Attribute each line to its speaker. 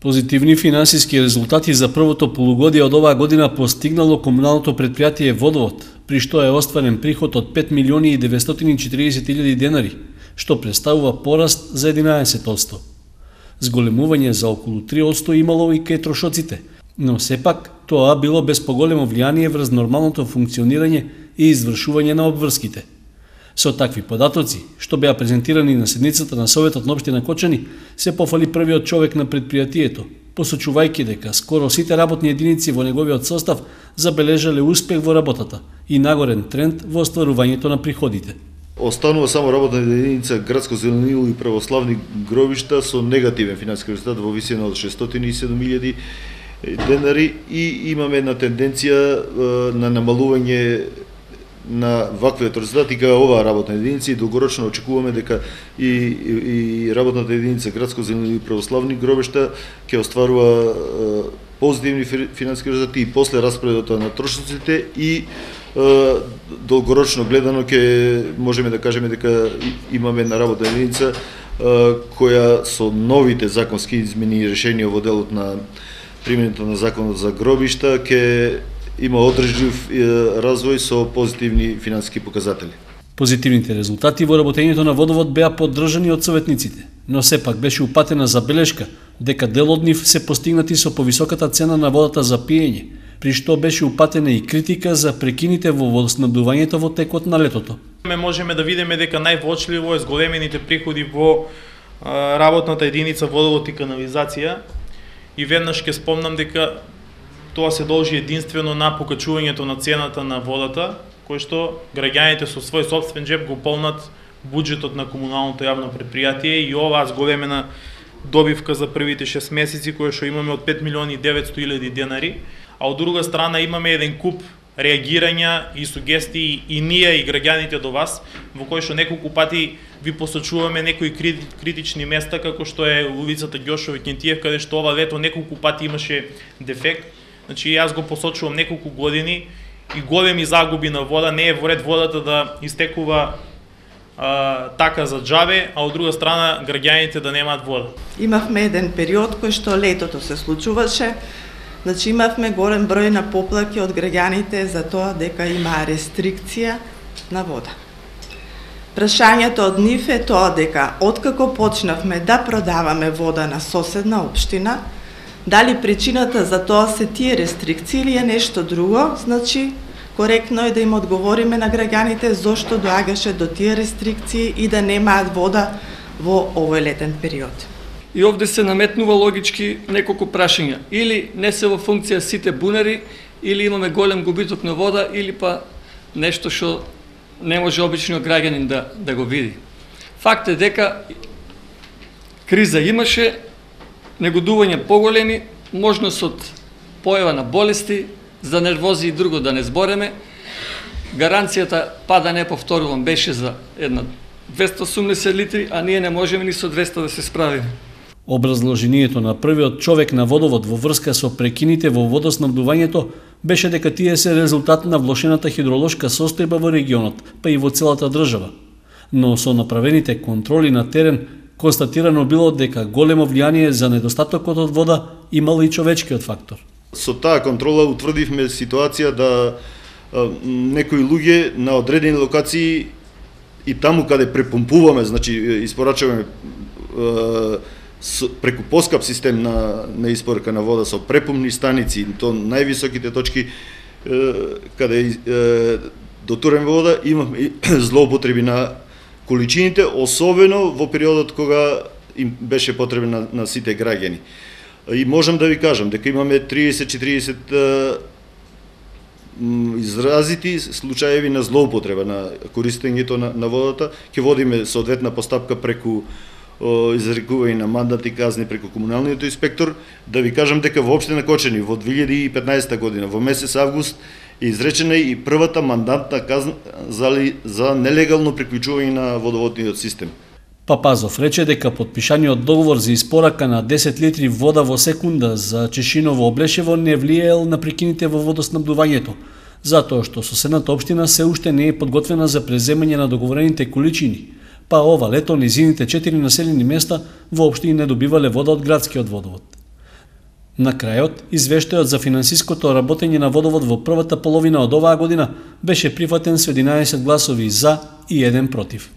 Speaker 1: Позитивни финансиски резултати за првото полугодие од оваа година постигнало комуналното предпријатие Водовод, при што е остварен приход од 5.940.000 денари, што представува пораст за 11%. Зголемување за околу 3% имало и кај трошоците, но сепак тоа било без поголемо влијание врз нормалното функционирање и извршување на обврските. Со такви податоци, што беа презентирани на седницата на Советот на општина Кочани, се пофали првиот човек на предпријатието, посочувајќи дека скоро сите работни единици во неговиот состав забележале успех во работата и нагорен тренд во остварувањето на приходите.
Speaker 2: Останува само работна единица Градско зеленило и православни гробишта со негативен финансиски резултат во висина од 607.000 денари и имаме една тенденција на намалување на ваквиот резултат и кај оваа работна единица и долгорочно очекуваме дека и работната единица Градско зеленило и православни гробишта ќе остварува позитивни финансиски резултати и после распредот на трошоците и долгорочно гледано ќе можеме да кажеме дека имаме една работна единица која со новите законски измени и решенија во делот на применето на законот за гробишта ќе има одржлив развој со позитивни финансиски показатели.
Speaker 1: Позитивните резултати во работењето на Водовод беа поддржани од советниците, но сепак беше упатена забелешка дека дел од нив се постигнати со повисоката цена на водата за пиење, при што беше упатена и критика за прекините во водоснабдувањето во текот на летото.
Speaker 3: Можеме да видиме дека највоочливо е зголемените приходи во работната единица Водовод и канализација и веднаш ќе спомнам дека тоа се должи единствено на покачувањето на цената на водата, кој што граѓаните со свој сопствен џеп го полнат буџетот на комуналното јавно предпријатие и оваа зголемена добивка за првите 6 месеци која што имаме од 5.900.000 денари, а од друга страна имаме еден куп реагирања и сугестии и ние и граѓаните до вас, во кој што неколку пати ви посочуваме некои критични места, како што е улицата Ѓошови Кентиев, каде што ова лето неколку пати имаше дефект. Значи, јас го посочувам неколку години и големи загуби на вода, не е во ред водата да истекува така за џабе, а од друга страна граѓаните да немаат вода.
Speaker 4: Имавме еден период кој што летото се случуваше, значи имавме голем број на поплаки од граѓаните за тоа дека има рестрикција на вода. Прашањето од нив е тоа дека откако почнавме да продаваме вода на соседна општина, дали причината за тоа се тие рестрикции или е нешто друго, значи коректно е да им одговориме на граѓаните зошто доаѓаше до тие рестрикции и да немаат вода во овој летен период.
Speaker 5: И овде се наметнува логички неколку прашања. Или не се во функција сите бунари, или имаме голем губиток на вода, или па нешто што не може обичниот граѓанин да го види. Факт е дека криза имаше, негодување поголеми, можност од појава на болести, за нервози и друго да не збореме. Гаранцијата, да не повторувам, беше за една 280 литри, а ние не можеме ни со 200 да се справиме.
Speaker 1: Образложението на првиот човек на Водовод во врска со прекините во водоснабдувањето беше дека тие се резултат на влошената хидролошка состојба во регионот, па и во целата држава. Но со направените контроли на терен констатирано било дека големо влијание за недостатокот од вода имал и човечкиот фактор.
Speaker 2: Со таа контрола утврдивме ситуација да некои луѓе на одредени локации и таму каде препомпуваме, значи испорачуваме преку поскап систем на испорка на вода со препумни станици, то највисоките точки каде дотураме вода, имаме злоупотреби на количините, особено во периодот кога им беше потребен на сите граѓани. И можам да ви кажам дека имаме 30-40 изразити случаеви на злоупотреба на користењето на водата. Ќе водиме соодветна постапка преку изрекување на мандати казни преку комуналниот инспектор. Да ви кажам дека во општина Кочани во 2015 година во месец август е изречена и првата мандатна казна за нелегално приклучување на водоводниот систем.
Speaker 1: Папазов рече дека подпишаниот договор за испорака на 10 литри вода во секунда за Чешиново Облешево не влијаел на прекините во водоснабдувањето, затоа што соседната општина се уште не е подготвена за преземање на договорените количини, па ова лето низините 4 населени места воопшто и не добивале вода од градскиот водовод. На крајот, извештајот за финансиското работење на водовод во првата половина од оваа година беше прифатен со 11 гласови за и 1 против.